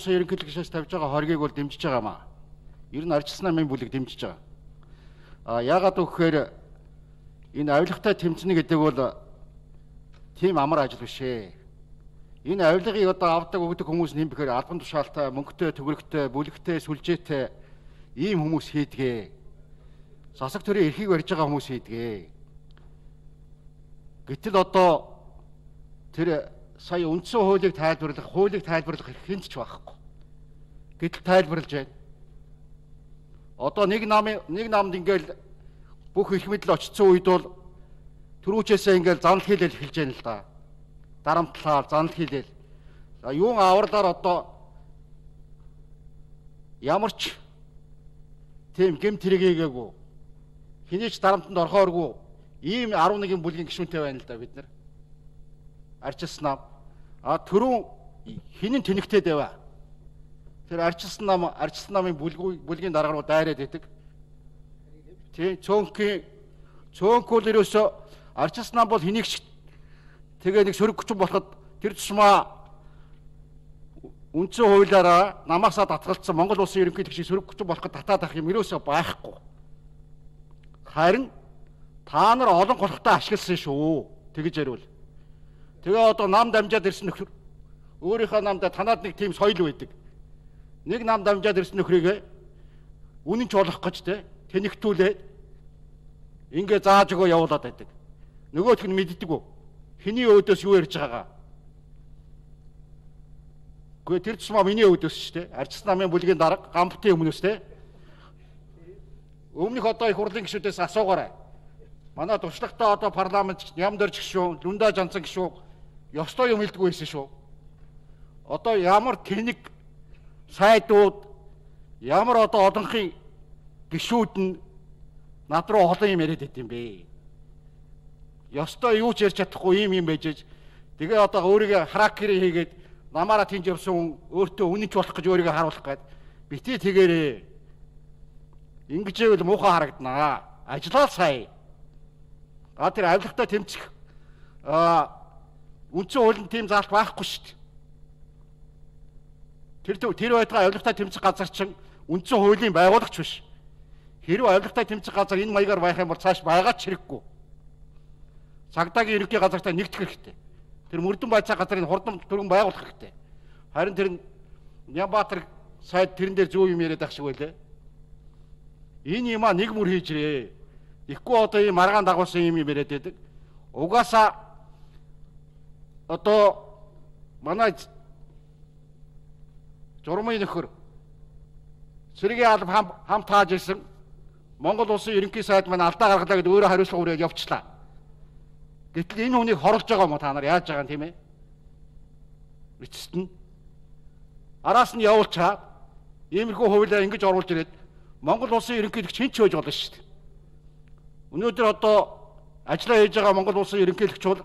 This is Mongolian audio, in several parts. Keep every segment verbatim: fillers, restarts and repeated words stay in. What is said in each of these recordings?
улсын ерөнхийлөгч гишээс тавьж байгаа хоргийг бол дэмжиж байгаа маа. Ер нь ардчилсан намын бүлэг дэмжиж байгаа. А яагаад гэвэл энэ авилгатай тэмцэнэ гэдэг бол тийм амар ажил биш ээ. Энэ авилгыг одоо авдаг өгдөг хүмүүс нэм бэхээр албан тушаалтай, мөнгөтэй, төгрөгтэй, бүлэгтэй, сүлжээтэй ийм хүмүүс хийдгээ. Засаг төрийн эрхийг барьж байгаа хүмүүс хийдгээ. Гэтэл одоо тэр сая үндсэн хуулийг тайлбарлах, хуулийг тайлбарлах хинт ч байхгүй. Гэтэл тайлбарлаж байна. Одоо нэг намын нэг намд ингээл бүх эрх мэдэл очсон үед бол түрүүчээсээ ингээл занал хийлэл эхэлж байна л да. Дарамтлаар занал хийлэл. За юун авралаар одоо ямар ч тийм гэмт хэрэгээгээгүй. Хинээч дарамтанд орхооргүй ийм арван нэгэн бүлгийн гишүүнтэй байна л да бид нар. Ардчилсан нам. А түрүүн хинэн тэнэгтэй дэвэ. Тэр ардчилсан нам, ардчилсан намын бүлгийн бүлгийн дарга руу дайраад идэг. Тий, цөөнхийн цөөнхөл ерөөсө ардчилсан нам бол хэнийг ч тэгээ нэг сөрөг хүчин болоход тэр тусмаа үндсэн хуулиараа намаасаа татгалцсан Монгол улсын ерөнхийлөгчийг сөрөг хүчин болоход татаад авах юм ерөөсө байхгүй. Харин та нар олон голхтой ашигласан шүү. Тэгж ярил. Тэгээ одоо нам дамжаад ирсэн нөхөр өөрийнхөө намдаа танаад нэг тийм соёл байдаг. Нэг нам дамжаад ирсэн нөхрийгээ үнэн ч болох гэж те тэнэгтүүлээд ингээ зааж өгөө явуулаад байдаг. Нөгөөх нь мэддэггүй. Хэний өөдөөс юу ярьж байгаагаа. Гэхдээ тэр тусмаа миний өөдөөс шүү дээ. Ардчилсан намын бүлгийн дарга гамбтын өмнөөс те. Өмнөх одоо их хурлын гишүүдээс асуугаарай. Манай туршлагатай одоо парламент Нямдорж гишүүн, Лүндаа Жанцан гишүүн ёстой юм хэлдэггүй байсан шүү. Одоо ямар тэнэг сайдууд, ямар одоо одонхын гишүүд нь над руу олон юм яриад байт юм бэ. Ёстой юу ч ярьж чадахгүй юм юм байж. Тэгээ одоо өөрийгөө харакери хийгээд намаараа тийж явсан өөртөө үнэнч болох гэж өөрийгөө харуулах гээд битээ тэгээрээ. Ингэж ивэл муухай харагданаа. Ажлаа сая. А тэр авилгатай тэмцэх а үндсэн хуулийн тийм заалт байхгүй шүү дээ. Тэр тэр байтугай авилгатай тэмцэх газар чинь үндсэн хуулийн байгуулагч биш. Хэрвээ авилгатай тэмцэх газар энэ маягаар байх юм бол цааш байгаа ч хэрэггүй. Цагдаагийн ерөнхий газартаа нэгдэх хэрэгтэй. Тэр мөрдөн байцаа газрын хурдан түргэн байгуулах хэрэгтэй. Харин тэр Нямбатар сайд тэрэн дээр зөв юм яриад ах шиг байлаа. Энэ юм а нэг мөр хийж ирээ. Ихгүй одоо ийм маргаан дагуулсан юм юм яриад байдаг. Угаасаа одоо манай журмын нөхөр Сэргийн алба хам хамт тааж ирсэн Монгол улсын ерөнхий сайд маань алдаа гаргалаа гэдээ өөрөө хариуцлага өрөөг явуулчлаа. Гэтэл энэ хүнийг хорлож байгаа юм та нар яаж байгаа юм тийм ээ? Эцэст нь араас нь явуулчаад иймэрхүү хуулиар ингэж оруулж ирээд Монгол улсын ерөнхийлөгч хэн ч байж болно шүү дээ. Өнөөдөр одоо ажиллаа хийж байгаа Монгол улсын ерөнхийлөгч бол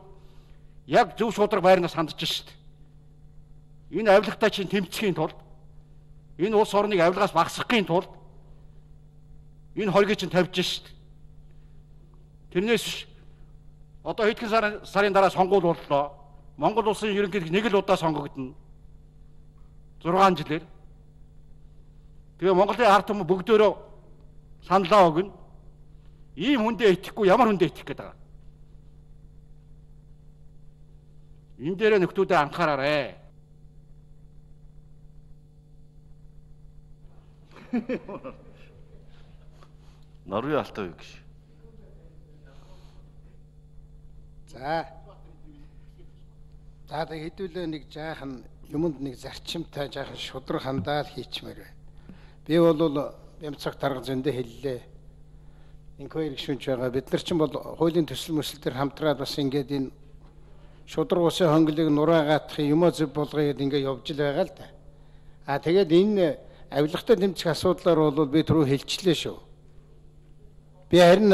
яг зөв шударга байрнаас хандж шүү дээ. Энэ авилгатай чинь тэмцэхийн тулд энэ улс орныг авилгаас багасгахын тулд энэ хоргийг чинь тавьж шүү дээ. Тэрнээс одоо хэдхэн сарын сарын дараа сонгуул боллоо. Монгол улсын ерөнхийлөгч нэг л удаа сонгогдно. зургаан жилээр. Тэгээ Монголын ард түмэн бүгдөө саналаа өгнө. Ийм хүндээ итгэхгүй ямар хүндээ итгэх гээд байгаа. Энэ дээр нөхдүүдээ анхаараарай. Норвег алтай юу гэж. За. За тэг хэдүүлээ нэг жаахан юмд нэг зарчимтай жаахан шудраг хандаал хийчмээр байна. Би бол бямцаг дарга зөндөө хэллээ. Инквайри гишүүнч байгаа. Бид нар ч бол хуулийн төсөл мөсөл төр хамтраад бас ингээд энэ шудраг усын хонглыг нураагаатах юмаа зөв болгоё гэд ингээд явж л байгаа л да. А тэгээд энэ авилгатай тэмцэх асуудлаар бол би түрүү хэлчихлээ шүү. Би харин